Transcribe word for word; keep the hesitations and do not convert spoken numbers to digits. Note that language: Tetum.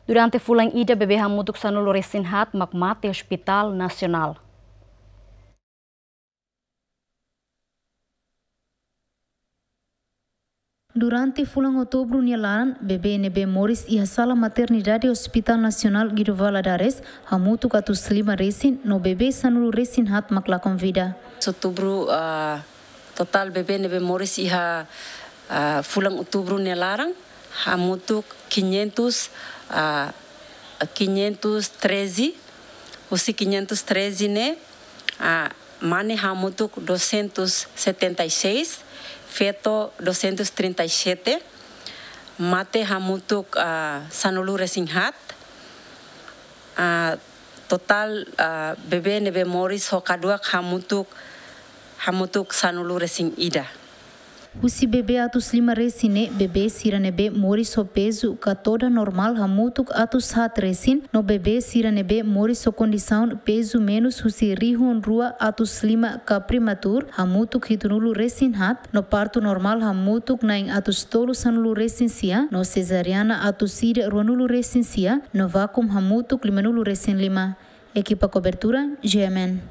Durante fulan ida bebé hamutuk sanulu resin haat mak mate Hospital Nasionál. Durante fulan Outubru nia laran, bebé ne'ebé moris iha sala maternidade Hospital Nasionál Guido Valadares hamutuk atus lima resin no bebé sanulu resin haat mak lakon vida. Outubru, ah, totál bebé ne'ebé moris iha, ah, fulan Outubru nia laran hamutuk quinhentos, ah, quinhentos treze, husi quinhentos treze ne'e, ah, mane hamutuk duzentos setenta e seis, feto duzentos trinta e sete, mate hamutuk, ah, sanulu resin haat, ah, totál, ah, bebé ne'ebé moris ho kaduak hamutuk, hamutuk sanulu resin ida. Husi bebé atus lima resin ne'e, bebé sira ne'ebé moris ho pezu ka todan normál hamutuk atus haat resin, no bebé sira ne'ebé moris ho kondisaun pezu menus husi rihun rua atus lima ka prematur hamutuk hitunulu resin haat, no partu normál hamutuk na'in atus tolu sanulu resin sia, no sezariana atus ida ruanulu resin sia, no vákum hamutuk limanulu resin lima. Ekipa kobertura, G M N.